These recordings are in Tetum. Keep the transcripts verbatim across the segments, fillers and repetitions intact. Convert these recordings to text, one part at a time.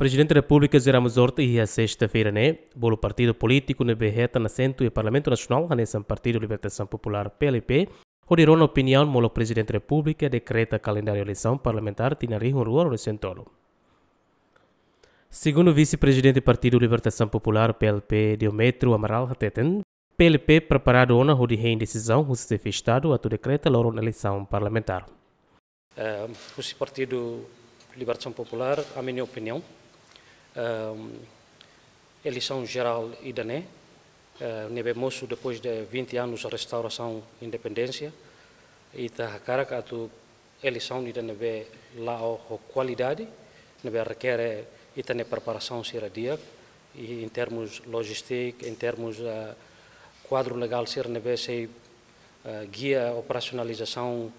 Prezidente Repúblika José Ramos Horta iha sesta-feira ne'e bolu partidu polítiku ne'ebé hetan asentu iha Parlamentu Nasionál hanesan Partidu Libertasaun Populár, P L P, hodi rona opiniaun molok Prezidente Repúblika dekreta kalendáriu eleisaun parlamentár tinan rihun rua ruanulu-resin-tolu. Segundu Vise-Prezidente Partidu Libertasaun Populár, P L P, Diometrio Amaral hateten, P L P preparadu ona hodi hein desizaun husi Xefe Estadu atu dekreta loron eleisaun parlamentár. Eh, husi Partidu Libertasaun Populár, ami-nia opiniaun, ehm, eleisaun jerál ida-ne'e, eh, ne'ebé mosu depois de vinte anos restaurasaun independénsia, ita hakarak atu eleisaun ida ne'ebé la'o ho kualidade, ne'ebé rekere ita-nia preparasaun sira di'ak, i em termos logística, em termos, eh, kuadru legál sira ne'ebé sei, eh, gia operasionalizasaun,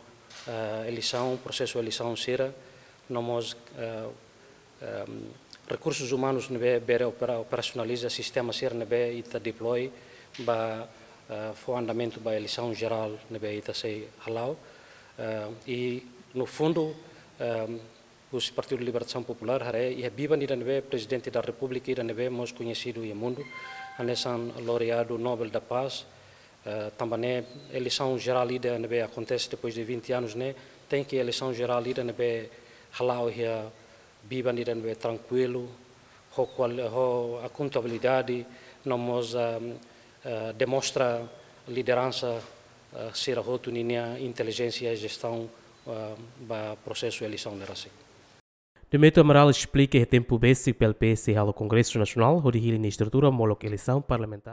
eh, eleisaun, prosesu eleisaun sira, no mós, eh, ehm, rekursus umanus ne'ebé bele opera-, operasionaliza sistema sira ne'ebé ita deploy ba, eh, fó andamentu ba eleisaun jerál ne'ebé ita sei hala'o. Eh, i no fundu, ehm, husi Partidu Libertasaun Populár haree iha biban ida ne'ebé Prezidente da Repúblika ida ne'ebé mós koñesidu iha mundu, hanesan laureadu Nobel da Paz, eh, tanba ne'e eleisaun jerál ida ne'ebé akontese depois de vinte anos ne'e, tenke eleisaun jerál ida ne'ebé hala'o iha biban ida ne'ebé trankuilu, ho kual-, ho akontabilidade, no mós, ehm, eh, demonstra lideransa, eh, sira hotu ninia intelijénsia jestaun, eh, ba prosesu eleisaun ne'e rasik. Diometrio Amaral esplika iha tempu besik P L P sei halo Kongresu Nasionál hodi hili nia estrutura molok eleisaun parlamentár.